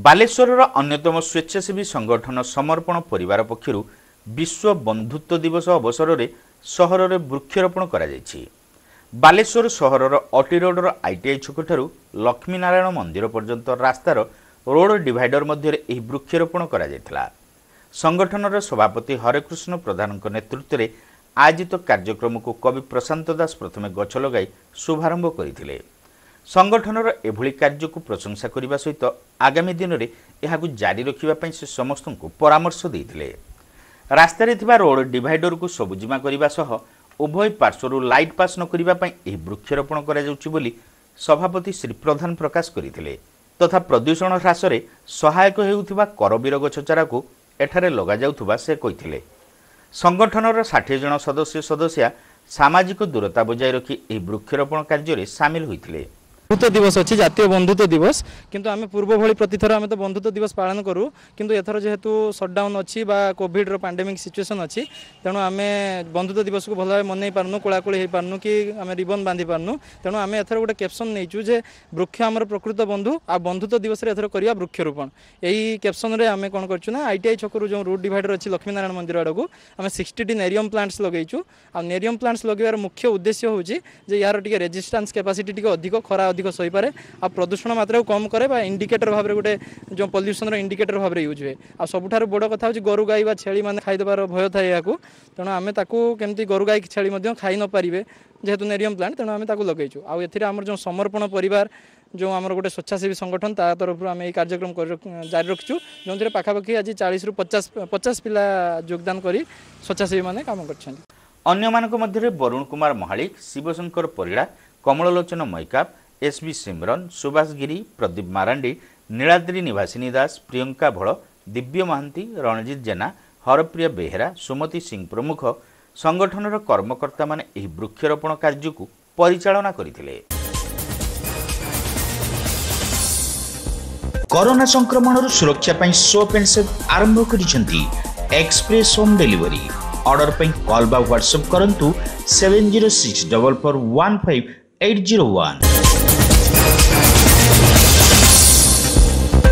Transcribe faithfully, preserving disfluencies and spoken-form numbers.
ବାଲେଶ୍ୱରର ଅନ୍ୟତମ ସ୍ୱେଚ୍ଛାସେବୀ ସଂଗଠନ ସମର୍ପଣ ପରିବାର ପକ୍ଷରୁ ବିଶ୍ୱ ବନ୍ଧୁତ୍ୱ ଦିବସ ଅବସରରେ ସହରରେ ବୃକ୍ଷରୋପଣ କରାଯାଇଛି। ବାଲେଶ୍ୱର ସହରର ଅଟି ରୋଡର ଆଇଟିଆଇ ଛକଠାରୁ ଲକ୍ଷ୍ମୀନାରାୟଣ ମନ୍ଦିର ପର୍ଯ୍ୟନ୍ତ ରାସ୍ତାର ରୋଡ ଡିଭାଇଡର ମଧ୍ୟରେ ଏହି ବୃକ୍ଷରୋପଣ କରାଯାଇଥିଲା। ସଂଗଠନର ସଭାପତି ହରେକୃଷ୍ଣ ପ୍ରଧାନଙ୍କ ନେତୃତ୍ୱରେ ଆୟୋଜିତ କାର୍ଯ୍ୟକ୍ରମକୁ କବି ପ୍ରଶାନ୍ତ ଦାସ ପ୍ରଥମେ ଗଛ ଲଗାଇ ଶୁଭାରମ୍ଭ କରିଥିଲେ। ସଂଗଠନର ଏଭଳି କାର୍ଯ୍ୟକୁ ପ୍ରଶଂସା କରିବା ସହିତ ଆଗାମୀ ଦିନରେ ଏହାକୁ ଜାରି ରଖିବା ପାଇଁ ସେ ସମସ୍ତଙ୍କୁ ପରାମର୍ଶ ଦେଇଥିଲେ। ରାସ୍ତାରେ ଥିବା ରୋଡ ଡିଭାଇଡରକୁ ସବୁଜିମା କରିବା ସହ ଉଭୟ ପାର୍ଶ୍ୱରୁ ଲାଇଟ୍ ପାସ୍ ନ କରିବା ପାଇଁ ଏହି ବୃକ୍ଷରୋପଣ କରାଯାଉଛି ବୋଲି ସଭାପତି ଶ୍ରୀ ପ୍ରଧାନ ପ୍ରକାଶ କରିଥିଲେ। ତଥା ପ୍ରଦୂଷଣ ହ୍ରାସରେ ସହାୟକ ହେଉଥିବା କରବୀର ଗଛ ଚାରାକୁ ଏଠାରେ ଲଗାଯାଉଥିବା ସେ କହିଥିଲେ। ସଂଗଠନର ଷାଠିଏ ଜଣ ସଦସ୍ୟ ସଦସ୍ୟା ସାମାଜିକ ଦୂରତା ବଜାୟ ରଖି ଏହି ବୃକ୍ଷରୋପଣ କାର୍ଯ୍ୟରେ ସାମିଲ ହୋଇଥିଲେ। ବନ୍ଧୁତ୍ୱ ଦିବସ ଅଛି, ଜାତୀୟ ବନ୍ଧୁତ୍ୱ ଦିବସ। କିନ୍ତୁ ଆମେ ପୂର୍ବ ଭଳି ପ୍ରତିଥର ଆମେ ତ ବନ୍ଧୁତ୍ୱ ଦିବସ ପାଳନ କରୁ, କିନ୍ତୁ ଏଥର ଯେହେତୁ ସଟ୍ଡାଉନ୍ ଅଛି ବା କୋଭିଡ଼ର ପାଣ୍ଡେମିକ୍ ସିଚୁଏସନ୍ ଅଛି, ତେଣୁ ଆମେ ବନ୍ଧୁତ୍ୱ ଦିବସକୁ ଭଲ ଭାବେ ମନେଇ ପାରୁନୁ, କୋଳାକୋଳି ହେଇପାରୁନୁ କି ଆମେ ରିବନ୍ ବାନ୍ଧି ପାରୁନୁ। ତେଣୁ ଆମେ ଏଥର ଗୋଟେ କ୍ୟାପସନ୍ ନେଇଛୁ ଯେ ବୃକ୍ଷ ଆମର ପ୍ରକୃତ ବନ୍ଧୁ, ଆଉ ବନ୍ଧୁତ୍ୱ ଦିବସରେ ଏଥର କରିବା ବୃକ୍ଷରୋପଣ। ଏଇ କ୍ୟାପସନ୍ରେ ଆମେ କ'ଣ କରିଛୁ ନା I T I ଛକରୁ ଯେଉଁ ରୁଟ୍ ଡିଭାଇଡର ଅଛି ଲକ୍ଷ୍ମୀନାରାୟଣ ମନ୍ଦିର ଆଡ଼କୁ ଆମେ ସିକ୍ସଟିଟି ନେରିୟମ୍ ପ୍ଲାଣ୍ଟସ୍ ଲଗେଇଛୁ। ଆଉ ନେରିୟମ୍ ପ୍ଲାଣ୍ଟସ୍ ଲଗେଇବାର ମୁଖ୍ୟ ଉଦ୍ଦେଶ୍ୟ ହେଉଛି ଯେ ୟାର ଟିକେ ରେଜିଷ୍ଟାନ୍ସ କାପାସିଟି ଟିକେ ଅଧିକ, ଖରା ଅଧିକ ସହିପାରେ, ଆଉ ପ୍ରଦୂଷଣ ମାତ୍ରାକୁ କମ୍ କରେ ବା ଇଣ୍ଡିକେଟର ଭାବରେ ଗୋଟେ ଯେଉଁ ପଲ୍ୟୁସନର ଇଣ୍ଡିକେଟର ଭାବରେ ୟୁଜ୍ ହୁଏ। ଆଉ ସବୁଠାରୁ ବଡ଼ କଥା ହେଉଛି ଗୋରୁ ଗାଈ ବା ଛେଳି ମାନେ ଖାଇଦେବାର ଭୟ ଥାଏ ଏହାକୁ, ତେଣୁ ଆମେ ତାକୁ କେମିତି ଗୋରୁ ଗାଈ ଛେଳି ମଧ୍ୟ ଖାଇ ନପାରିବେ ଯେହେତୁ ନେରିୟମ୍ ପ୍ଲାଣ୍ଟ, ତେଣୁ ଆମେ ତାକୁ ଲଗେଇଛୁ। ଆଉ ଏଥିରେ ଆମର ଯେଉଁ ସମର୍ପଣ ପରିବାର ଯେଉଁ ଆମର ଗୋଟେ ସ୍ୱେଚ୍ଛାସେବୀ ସଂଗଠନ, ତା ତରଫରୁ ଆମେ ଏଇ କାର୍ଯ୍ୟକ୍ରମ ଜାରି ରଖିଛୁ, ଯେଉଁଥିରେ ପାଖାପାଖି ଆଜି ଚାଳିଶରୁ ପଚାଶ ପଚାଶ ପିଲା ଯୋଗଦାନ କରି ସ୍ୱେଚ୍ଛାସେବୀମାନେ କାମ କରିଛନ୍ତି। ଅନ୍ୟମାନଙ୍କ ମଧ୍ୟରେ ବରୁଣ କୁମାର ମହାଳିକ, ଶିବଶଙ୍କର ପରିଡ଼ା, କମଳଲୋଚନ ମୈକାପ, ଏସ୍ ବି ସିମରନ, ସୁଭାଷ ଗିରି, ପ୍ରଦୀପ ମାରାଣ୍ଡି, ନୀଳାଦ୍ରି ନିବାସିନୀ ଦାସ, ପ୍ରିୟଙ୍କା ଭଳ, ଦିବ୍ୟ ମହାନ୍ତି, ରଣଜିତ ଜେନା, ହରପ୍ରିୟ ବେହେରା, ସୁମତି ସିଂ ପ୍ରମୁଖ ସଂଗଠନର କର୍ମକର୍ତ୍ତାମାନେ ଏହି ବୃକ୍ଷରୋପଣ କାର୍ଯ୍ୟକୁ ପରିଚାଳନା କରିଥିଲେ। କରୋନା ସଂକ୍ରମଣରୁ ସୁରକ୍ଷା ପାଇଁ ସୋପ୍ ଆଣ୍ଡ ସେଫ୍ ଆରମ୍ଭ କରିଛନ୍ତି ଏକ୍ସପ୍ରେସ୍ ହୋମ୍ ଡେଲିଭରି। ଅର୍ଡର ପାଇଁ କଲ୍ ବା ହ୍ୱାଟ୍ସଆପ୍ କରନ୍ତୁ seven zero six double four one five eight zero one.